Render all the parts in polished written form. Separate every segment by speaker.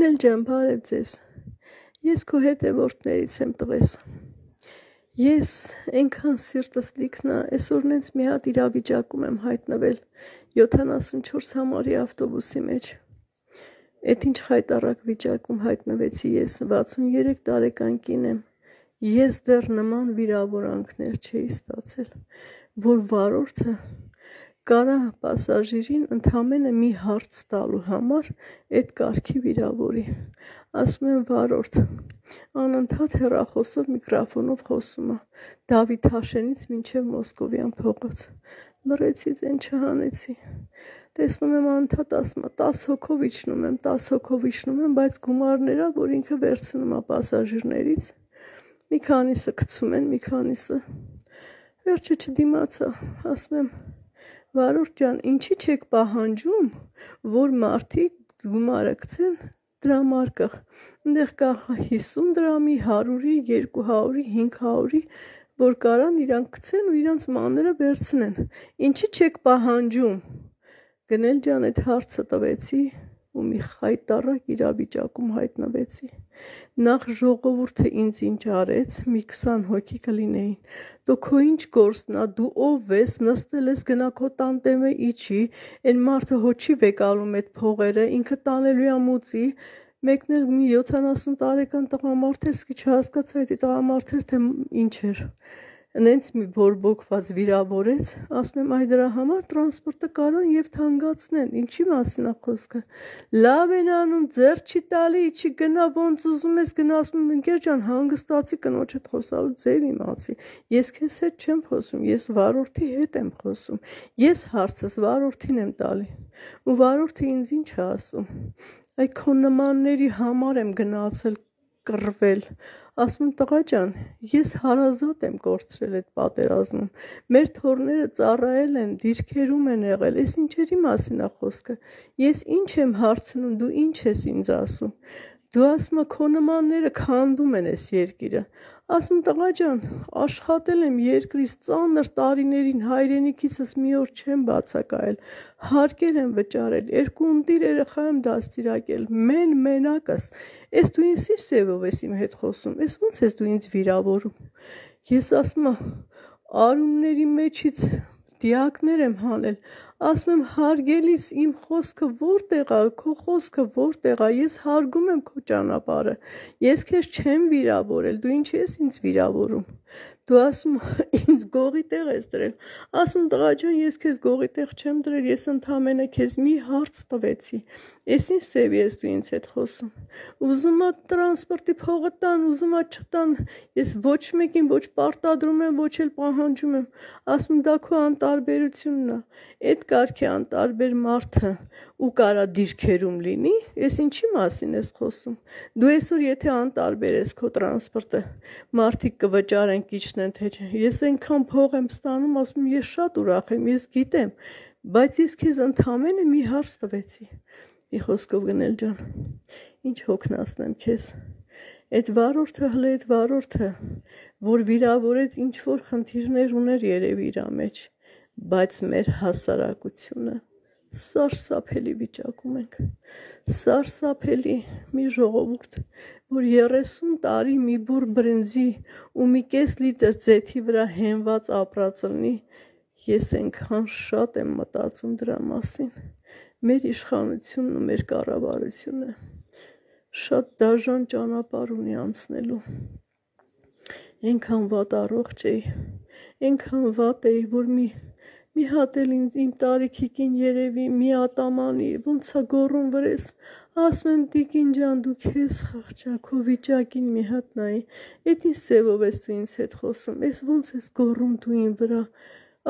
Speaker 1: Նել ջան, բարև ձեզ։ Ես քո հետևորդներից եմ տղես։ Ես այնքան սիրտս լիքնա, այսօր նենց մի հատ իրավիճակում եմ հայտնվել 74 համարի ավտոբուսի մեջ։ Էդ ինչ խայտառակ վիճակում հայտնվեցի ես, 63 տարեկան կին եմ։ Ես դեռ նման վիրավորանքներ չէի ստացել, որ վարորդը կարա պասաժիրին ընդամենը մի հարց տալու համար այդ կարգի վիրավորի։ Ասում եմ վարորդ, անընդհատ հեռախոսով միկրոֆոնով խոսում է, Դավիթ Հաշենից մինչև Մոսկովյան փողոց։ Լռեցի, ձեն չհանեցի։ Տեսնում եմ անընդհատ ասում է 10 հոգով իջնում եմ, 10 հոգով իջնում եմ, բայց գումարներա, որ ինքը վերցնում է պասաժիրներից, մի քանիսը գցում են, մի քանիսը։ Վերջը չդիմացա, ասում եմ վարորդ ջան, ինչի չեք պահանջում, որ մարդիկ գումարը գցեն դրամարկղ, այնտեղ կա 50 դրամի, 100-ի, 200-ի, 500-ի, որ կարան իրանք գցեն ու իրանց մանրը վերցնեն, ինչի չեք պահանջում։ Գնել ջան, այդ հարցը տվեցի ու մի խայտառակ իրավիճակում հայտնվեցի։ Նախ ժողովուրդը ինձ ինչ արեց, մի 20 հոգի կլինեին։ Դու քո ինչ գործն ա, դու ով ես, նստել ես, գնա քո տանտեմը իջի, այն մարդը հո չի վեկալում այդ փողերը, ինքը տանելու է մուծի, մեկն էլ մի 70 տարեկան տղամարդ էր, սկի չհասկացա այդ տղամարդը թե ինչ էր։ Նենց մի բորբոքված վիրավորեց, ասում եմ այ դրա համար տրանսպորտը կարան եւ թանկացնեն, ինչի մասին է խոսքը։ Լավ են անում, ձեռ չի տալի, չի գնա ոնց ուզում ես գնա, ասում եմ ընկեր ջան, հանգստացի կնոջդ խոսալու ձև իմացի։ Ես քեզ հետ չեմ խոսում, ես վարորդի հետ եմ խոսում։ Ես հարցս վարորդին եմ տալի։ Ու վարորդը ինձ ինչ է ասում։ Այ քո նմանների համար եմ գնացել կռվել, ասում տղա ջան, ես հարազատ եմ կորցրել այդ պատերազմում, մեր թորները ծառայել են, դիրքերում են եղել, ես ինչերի մասին է խոսքը, ես ինչ եմ հարցնում, դու ինչ ես ինձ ասում, դու ասում ես քո նմանները քանդում են այս երկիրը, ասում տղա ջան, աշխատել եմ երկրից ծանր տարիներին, հայրենիքիցս մի օր չեմ բացակայել, հարկեր եմ վճարել, 2 ընտիր երեխա եմ դաստիարակել, մենակս, ես դու ինձ ինչ սևով ես իմ հետ խոսում, ես ոնց ես դու ինձ վիրավորում, ես ասում եմ արունների մեջից դիակներ եմ հանել, ասում եմ հարգելիս իմ խոսքը որտեղ է, քո խոսքը որտեղ է, ես հարգում եմ քո ճանապարհը, ես քեզ չեմ վիրավորել, դու ինչի ես ինձ վիրավորում, դու ասում ինձ գողի տեղ ես դրել, ասում տղա ջան, ես քեզ գողի տեղ չեմ դրել, ես ընդամենը քեզ մի հարց տվեցի, ես ինչ սև ես դու ինձ հետ խոսում, ուզում ա տրանսպորտի փողը տան, ուզում ա չտան, ես ոչ մեկին ոչ պարտադրում եմ, ոչ էլ պահանջում եմ, ասում դա քո անտարբերությունն է, այդ կարգի անտարբեր մարդը ու կարա դիրքերում լինի, ես ինչի մասին ես խոսում, դու այսօր եթե անտարբեր ես քո տրանսպորտը, մարդիկ կվճարեն կիչնեն թե չէ, ես այնքան փող եմ ստանում, ասում ես շատ ուրախ եմ, ես գիտեմ, բայց ես քեզ ընդամենը մի հարց տվեցի, մի խոսքով գնել ջան, ինչ հոգնածնեմ քեզ, այդ վարորդը հլը այդ վարորդը, որ վիրավորեց ինչ որ խնդիրներ ուներ երևի իր մեջ, բայց մեր հասարակությունը սարսափելի վիճակում ենք, սարսափելի մի ժողովուրդ, որ 30 տարի մի բուռ բրինձի ու մի կես լիտր ձեթի վրա հենված ապրած լինի, ես այնքան շատ եմ մտածում դրա մասին, մեր իշխանությունն ու մեր կառավարությունը շատ դաժան ճանապարհ ունի անցնելու, այնքան վատ առողջ էի, այնքան վատ էի, որ մի հատ էլ իմ տարիքին երևի մի ատամանի, ոնց է գոռում վրես, ասում եմ տիկին ջան, դու քեզ խղճա, քո վիճակին մի հատ նայի, այդ ինչ սևով ես դու ինձ հետ խոսում, ես ոնց ես գոռում դու իմ վրա,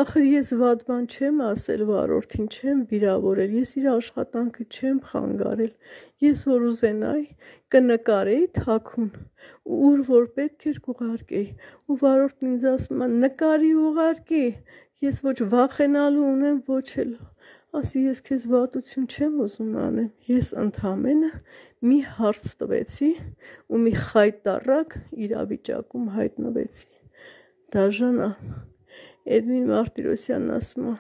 Speaker 1: ախր ես վատ բան չեմ ասել վարորդին, չեմ վիրավորել, ես իր աշխատանքը չեմ խանգարել, ես որ ուզենայի, կնկարեի թաքուն, ուր որ պետք էր կուղարկեի, ու վարորդն ինձ ասում է նկարի ուղարկի, ես ոչ վախենալու ունեմ, ոչ էլ, ասի ես քեզ վատություն չեմ ուզում անեմ, ես ընդամենը մի հարց տվեցի ու մի խայտառակ իրավիճակում հայտնվեցի, դաժան է, Էդմին Մարտիրոսյանն ասում է,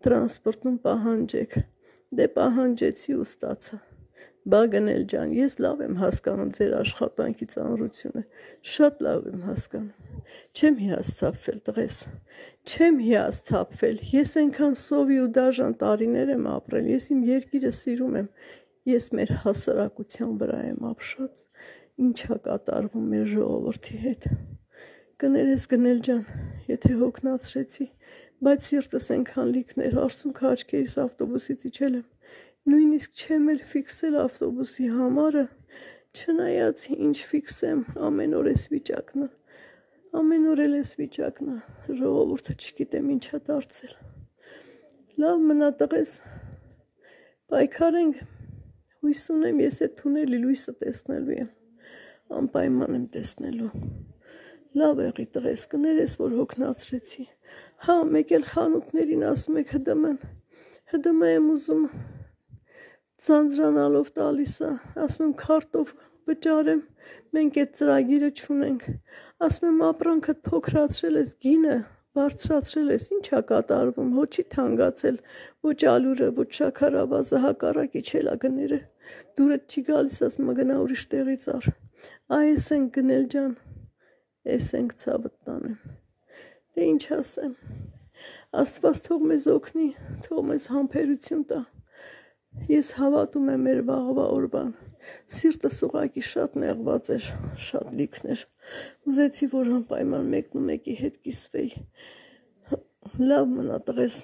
Speaker 1: տրանսպորտում պահանջեք, դե պահանջեցի ու ստացա, Բա գնել ջան, ես լավ եմ հասկանում ձեր աշխատանքի ծանրությունը, շատ լավ եմ հասկանում, չեմ հիասթափվել տղես, չեմ հիասթափվել, ես այնքան սովի ու դաժան տարիներ եմ ապրել, ես իմ երկիրը սիրում եմ, ես մեր հասարակության վրա եմ ապշած, ինչա կատարվում մեր ժողովրդի հետ, կներես գնել ջան, եթե հոգնացրեցի, բայց սիրտս այնքան լիքներ, արցունքը աչքերիս ավտոբուսից իջել եմ, նույնիսկ չեմ էլ ֆիքսել ավտոբուսի համարը, չնայած ինչ ֆիքսեմ, ամեն օր էս վիճակն է, ամեն օր էլ էս վիճակն է, ժողովուրդը չգիտեմ ինչա դարձել, լավ մնա տղես, պայքարենք, հույս ունեմ ես այդ թունելի լույսը տեսնելու եմ, անպայման եմ տեսնելու, լավ եղի տղես, կներես որ հոգնացրեցի, հա մեկ էլ խանութներին ասում եք հդմ եմ ուզում, ձանձրանալով տալիս է, ասում եմ քարտով վճարեմ, մենք այդ ծրագիրը չունենք, ասում եմ ապրանքդ փոքրացրել ես, գինը բարձրացրել ես, ինչա կատարվում, հո չի թանկացել, ոչ ալուրը, ոչ շաքարավազը, հակառակի չելա գները, դուրդ չի գալիս, ասում գնա ուրիշ տեղից առ, այս ենք գնել ջան, այս ենք ցավդ տանեմ, դե ինչ ասեմ, Աստված թող մեզ օգնի, թող մեզ համբերություն տա, ես հավատում եմ մեր վաղվա օրվան, սիրտս ուղղակի շատ նեղված էր, շատ լիքներ, ուզեցի որ անպայման մեկն ու մեկի հետ կիսվեի, լավ մնա տղես,